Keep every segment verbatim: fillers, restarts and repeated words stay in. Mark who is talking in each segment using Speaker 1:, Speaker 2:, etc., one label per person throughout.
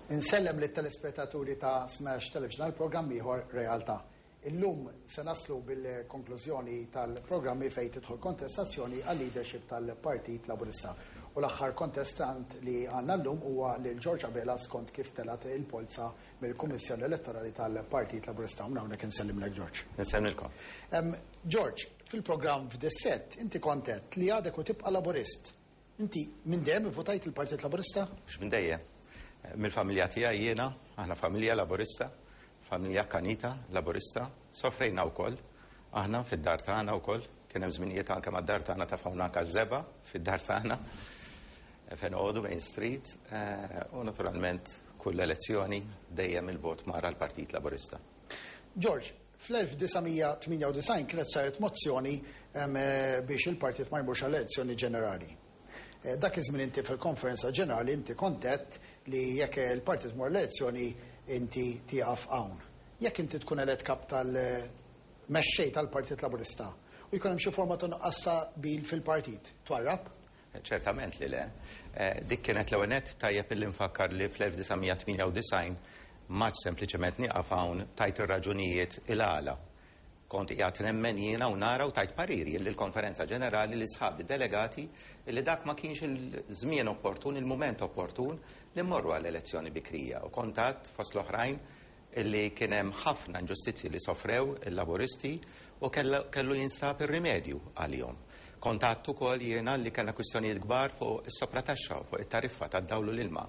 Speaker 1: Insellem lit-telespettaturi ta' Smash Television għal programm ieħor Realtà. Illum se naslu bil-konklużjoni tal-programmi fejn tidħol kontestazzjoni għal leadership tal-Partit Laburista. U l-aħħar kontestant li għandna llum huwa lil George Abela skont kif telgħet il-polza mill-Kummissjoni Elettorali tal-Partit Laburista. U hawnhekk insellimlek, George.
Speaker 2: Nsellimlkom.
Speaker 1: George, fil-programm f'Dissett inti kont għedt li għadek u tibqa' Laburist. Inti minn dejjem votajt il-Partit Laburista?
Speaker 2: Mhux minn dejjem. Mill-familja tiegħi jiena, aħna familja Laburista, familja kanita Laburista, sofrejna wkoll. Aħna fid-dar tagħna wkoll, kien hemm żminijiet anke mad-dar tagħna tafawna anke żebgħa fid-dar tagħna. Fejn noqogħdu Main Street, u naturalment kull elezzjoni dejjem il-vot mar għall-Partit Laburista.
Speaker 1: George, fl-elf disa' mija tmienja u disgħin kienet saret mozzjoni biex il-partit ma jmurx għall-elezzjoni ġenerali. Dak iż-żmien inti fil-konferenza ġenerali inti kont għedt li jekk il-partit mor l-elezzjoni inti tieqaf hawn. Jekk inti tkun elett kap tal-mexxej tal-Partit Laburista u jkun hemm xi forma ta' nuqqas ta' qbil fil-partit, twarrab?
Speaker 2: Ċertament li le. Dik kienet l-ewwel nett, tajjeb illi nfakkar li fl-elf disa' mija tmienja u disgħin maċ sempliċement nieqaf hawn tajt ir-raġunijiet il-għala. Kont qiegħed nemmen jiena u nara u tajt pariri li l-konferenza ġenerali li sħabi delegati li dak ma kienx il-żmien opportun, il-mument opportun li mmorru għall-elezzjoni bikrija. U kont għedt fost l-oħrajn illi kien hemm ħafna inġustizzji li sofrew il-Laburisti u kellu, kellu jinstab ir-rimedju għalihom. Kont għedt ukoll jiena li kellna kwistjonijiet kbar fuq is-soprataxxa u fuq it-tariffa tad-dawl u l-ilma.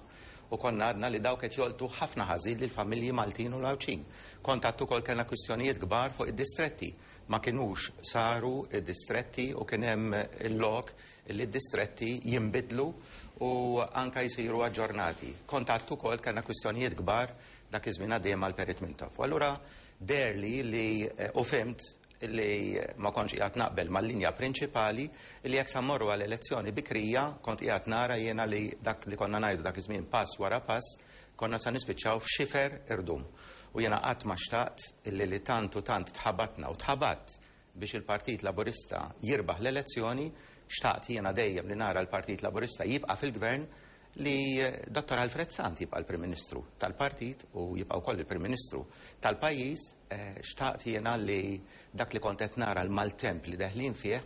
Speaker 2: U konna għadna li dawk qed jolqtu ħafna ħażin lill-familji Maltin u l-Għawdxin. Kont għedt ukoll kellna kwistjonijiet kbar fuq id-distretti. Ma kinux saru id-distretti u kien hemm il-lok li d-distretti jinbidlu u anka jsiru aġġornati. Kont għedt ukoll kellna kwistjonijiet kbar dak iż-żmien għaddejjem mal-Perit Mintoff. U allura deherli li, eh, u fhimt li ma kontx qiegħed naqbel mal-linja prinċipali li jekk sa mmorru għal elezzjoni bikrija kont qiegħed nara jiena li dak li konna ngħidu dak iż-żmien pass wara pass konna sa nispiċċaw f'xifer irdum. U jiena qatt ma xtaqt illi li tant u tant tħabatna u tħabat biex il-Partit Laburista jirbaħ l-elezzjoni, xtaqt jiena dejjem li nara l-Partit Laburista jibqa' fil-gvern, li Dottor Alfred Sant jibqa' l-Prim Ministru tal-partit u jibqa' wkoll il-Prim Ministru tal-pajjiż, eh, xtaqt jiena li dak li kont qed nara l-maltemp li deħlin fih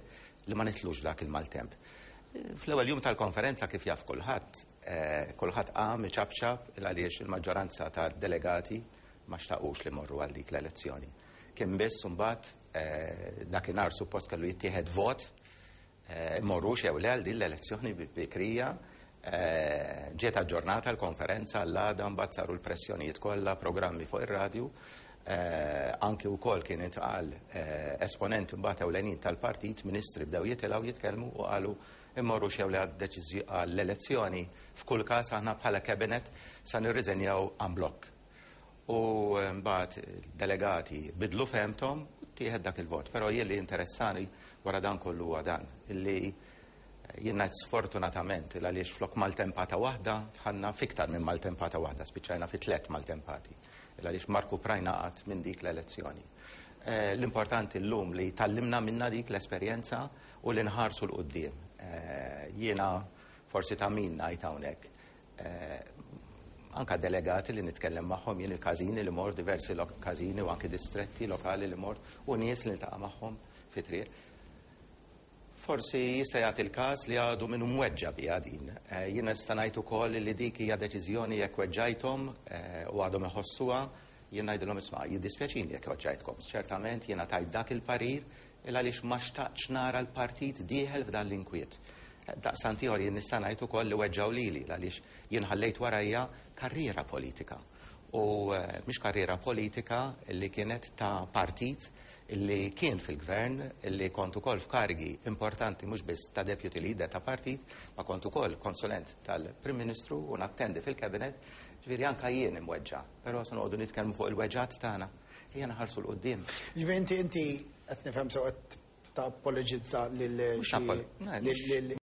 Speaker 2: li ma nitlux dak il-maltemp. Eh, fl-ewwel jum tal-konferenza kif jaf kulħadd, eh, kulħadd qam iċapċap il għaliex il-maġġoranza tad-delegati ma xtaqux li morru għal dik l-elezzjoni. Kien biss imbagħad, eh, dakinhar suppost kellu jittieħed vot, eh, morrux jew le għal din l-elezzjoni bikrija. Eh, ġiet aġġornata l-konferenza għall-għada, mbagħad saru l-pressjonijiet kollha, programmi fuq ir-radju. Eh, anki wkoll kien intqal, eh, esponenti mbagħad ewlenin tal-partit, ministri bdew jitilgħu jitkellmu u qalu immorru xew li għad-deċiżjoni għall-elezzjoni, f'kull każ aħna bħala cabinet sa nirriżenjaw en bloc. U mbagħad delegati bidlu fehmthom u ttieħed dak il-vot. Però jien li interessani wara dan kollu huwa dan, illi jien ngħid sfortunatament il għaliex flok maltempata waħda dħalna fiktar minn maltempata waħda, spiċċajna fi tliet maltempati. Il għaliex Marku Prajna qatt minn dik l-elezzjoni. Eh, l-importanti llum li tallimna minna dik l-esperjenza u li nħarsu 'l quddiem. Eh, jiena forsi ta' min ngħid hawnhekk. Eh, anka delegati li nitkellem magħhom, jien il-każini li mort, diversi lo-, każini u anki distretti lokali li mort, u nies li niltaqa' magħhom fi triq. Forsi jista' jagħti l-każ li għadu minnu mweġġa biha din. Eh, jiena nista' ngħid ukoll li dik hija deċiżjoni jekk weġġajthom, eh, u għadhom iħossuha, jien ngħidilhom isma' jiddispjaċini jekk weġġajtkom. Ċertament jiena tajt dak il-parir il għaliex ma xtaqtx nara l-partit dieħel f'dan l-inkwiet. Eh, daqstant ieħor jien nista' ngħid ukoll li weġġaw lili għaliex jien ħallejt warajja karriera politika. U, eh, mhix karriera politika li kienet ta' partit illi kien fil-gvern, illi kont ukoll f'karigi importanti mhux biss ta' deputy leader ta' partit, ma kont ukoll konsulent tal-Prim Ministru u nattendi fil-kabinet, ġifieri anka jien imweġġa', però se noqogħdu nitkellmu fuq il-weġġat tagħna. Ejja naħarsu 'l quddiem.
Speaker 1: Ġifieri inti, inti qed nifhem sew qed tapologizza lil
Speaker 2: Mhux
Speaker 1: xi
Speaker 2: napol-, ne,
Speaker 1: lil
Speaker 2: mhux
Speaker 1: lil